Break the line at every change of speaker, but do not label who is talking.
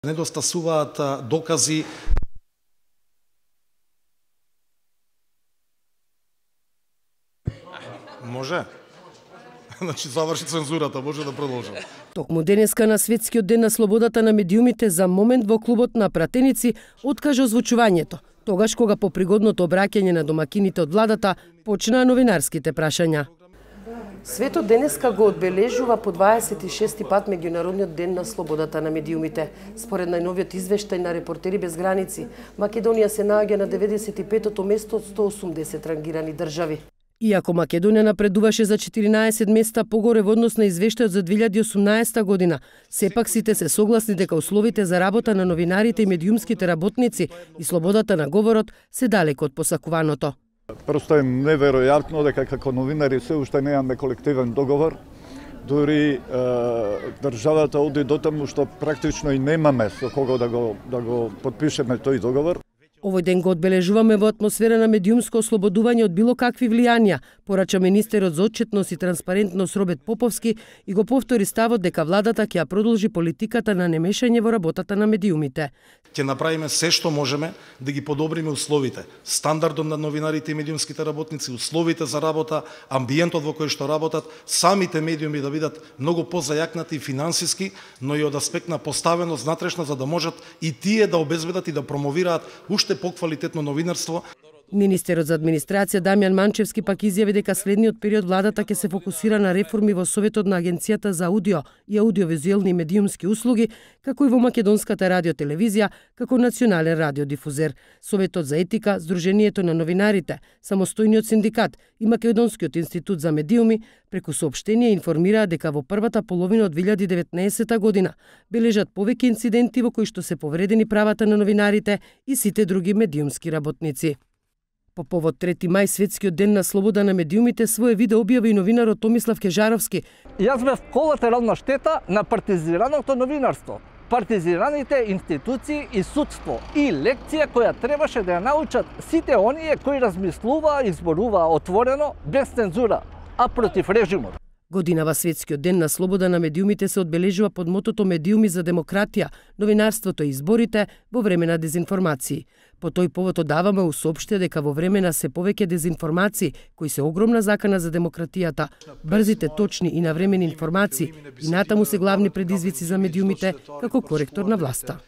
Недостасуваат докази. Може? Значи заврши цензурата, може да продолжам.
Токму денеска на Светскиот ден на слободата на медиумите за момент во клубот на пратеници откажа озвучувањето, тогаш кога по пригодното обраќање на домакините од владата почнаа новинарските прашања. Светот денеска го одбележува по 26 пат меѓународниот ден на слободата на медиумите. Според најновиот извештај на Репортери без граници, Македонија се наоѓа на 95-тото место од 180 рангирани држави. Иако Македонија напредуваше за 14 места погоре во однос на извештајот за 2018 година, сепак сите се согласни дека условите за работа на новинарите и медиумските работници и слободата на говорот се далеко од посакуваното.
Просто е неверојатно дека како новинари се уште немаме колективен договор. Дури државата оди до таму што практично и немаме со кого да го потпишеме тој договор.
Овој ден го одбележуваме во атмосфера на медиумско ослободување од било какви влијанија, порача министерот за отчетност и транспарентност Роберт Поповски и го повтори ставот дека владата ќе ја продолжи политиката на немешање во работата на медиумите.
Ќе направиме се што можеме да ги подобриме условите, стандардот на новинарите и медиумските работници, условите за работа, амбиентот во кој што работат, самите медиуми да бидат многу позајакнати финансиски, но и од аспект на поставеност внатрешна за да можат и тие да обезбедат и да промовираат уште поквалитетно новинарство.
Министерот за администрација Дамјан Манчевски пак изјави дека следниот период владата ќе се фокусира на реформи во Советот на Агенцијата за аудио и аудиовизуелни и медиумски услуги, како и во Македонската радиотелевизија, како национален радиодифузер. Советот за етика, Сдруженијето на новинарите, Самостојниот синдикат и Македонскиот институт за медиуми преку соопштение информираа дека во првата половина од 2019 година бележат повеќе инциденти во кои што се повредени правата на новинарите и сите други медиумски работници. По повод 3 мај, Светскиот ден на слобода на медиумите, свое видео објави и новинарот Томислав Кежаровски.
Јас бев колатерална штета на партизираното новинарство, партизираните институции и судство и лекција која требаше да ја научат сите оние кои размислуваа и зборуваа отворено, без цензура, а против режимот.
Годинава Светскиот ден на слобода на медиумите се одбележува под мотото Медиуми за демократија, новинарството и изборите во време на дезинформации. По тој повод одаваме усоопштија дека во време на се повеќе дезинформации, кои се огромна закана за демократијата, брзите, точни и навремени информации и натаму се главни предизвици за медиумите како коректор на власта.